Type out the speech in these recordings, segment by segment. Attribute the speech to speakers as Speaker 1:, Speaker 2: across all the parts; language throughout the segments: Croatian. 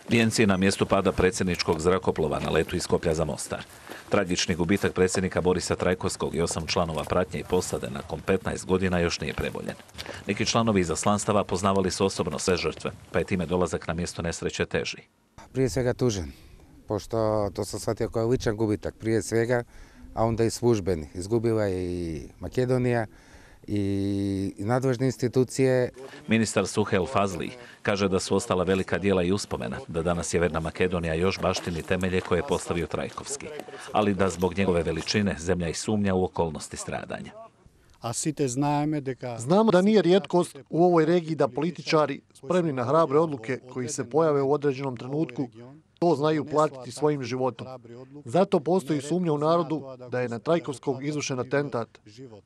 Speaker 1: Vijenci na mjestu pada predsjedničkog zrakoplova na letu iz Skoplja za Mostar. Tragični gubitak predsjednika Borisa Trajkovskog i 8 članova pratnje i posade nakon 15 godina još nije preboljen. Neki članovi izaslanstava poznavali su osobno sve žrtve, pa je time dolazak na mjesto nesreće teži.
Speaker 2: Prije svega tužan, pošto to sam shvatio kao ličan gubitak, prije svega, a onda i službeni. Izgubila je i Makedonija i nadležne institucije.
Speaker 1: Ministar Suhel Fazli kaže da su ostala velika djela i uspomena, da danas Sjeverna Makedonija još baštini temelje koje je postavio Trajkovski, ali da zbog njegove veličine zemlja i sumnja u okolnosti stradanja.
Speaker 3: Znamo da nije rijetkost u ovoj regiji da političari spremni na hrabre odluke koji se pojave u određenom trenutku to znaju platiti svojim životom. Zato postoji sumnja u narodu da je na Trajkovskog izvršen atentat,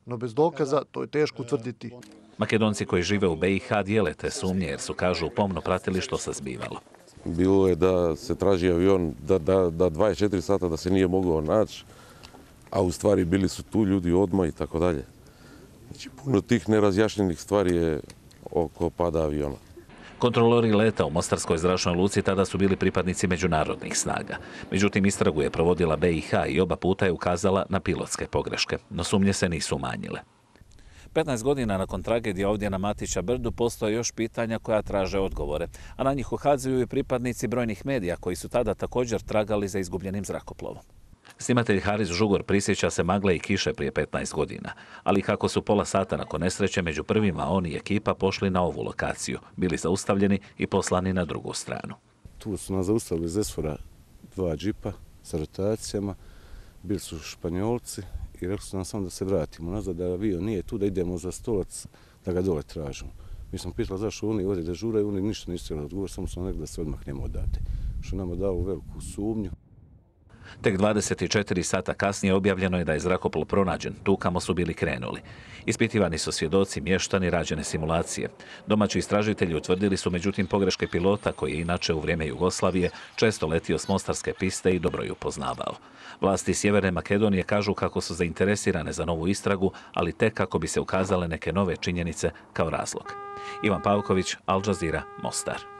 Speaker 3: no bez dokaza to je teško utvrditi.
Speaker 1: Makedonci koji žive u BiH dijele te sumnje jer su, kažu, pomno pratili što se zbivalo.
Speaker 4: Bilo je da se traži avion, da 24 sata da se nije mogao naći, a u stvari bili su tu ljudi odmah i tako dalje. Znači, puno tih nerazjašnjenih stvari je oko pada aviona.
Speaker 1: Kontrolori leta u Mostarskoj zračnoj luci tada su bili pripadnici međunarodnih snaga. Međutim, istragu je provodila BiH i oba puta je ukazala na pilotske pogreške, no sumnje se nisu umanjile. 15 godina nakon tragedije ovdje na Matića Brdu postoje još pitanja koja traže odgovore, a na njih ukazuju i pripadnici brojnih medija koji su tada također tragali za izgubljenim zrakoplovom. Snimatelj Haris Žugor prisjeća se magle i kiše prije 15 godina, ali kako su pola sata nakon nesreće među prvima on i ekipa pošli na ovu lokaciju, bili zaustavljeni i poslani na drugu stranu.
Speaker 5: Tu su nas zaustavili iz Esfora 2 džipa sa rotacijama, bili su Španjolci i rekli su nam samo da se vratimo nazad, da avion nije tu, da idemo za stolac, da ga dole tražimo. Mi smo pitali zašto oni ovdje dežuraju, oni ništa nisu htjeli odgovoriti, samo su rekli da se odmahnemo odate, što nama dao veliku sumnju.
Speaker 1: Tek 24 sata kasnije objavljeno je da je zrakoplov pronađen, tu kamo su bili krenuli. Ispitivani su svjedoci, mještani, rađene simulacije. Domaći istražitelji utvrdili su međutim pogreške pilota koji je inače u vrijeme Jugoslavije često letio s mostarske piste i dobro ju poznavao. Vlasti Sjeverne Makedonije kažu kako su zainteresirane za novu istragu, ali tek kako bi se ukazale neke nove činjenice kao razlog. Ivan Pavković, Al Jazeera, Mostar.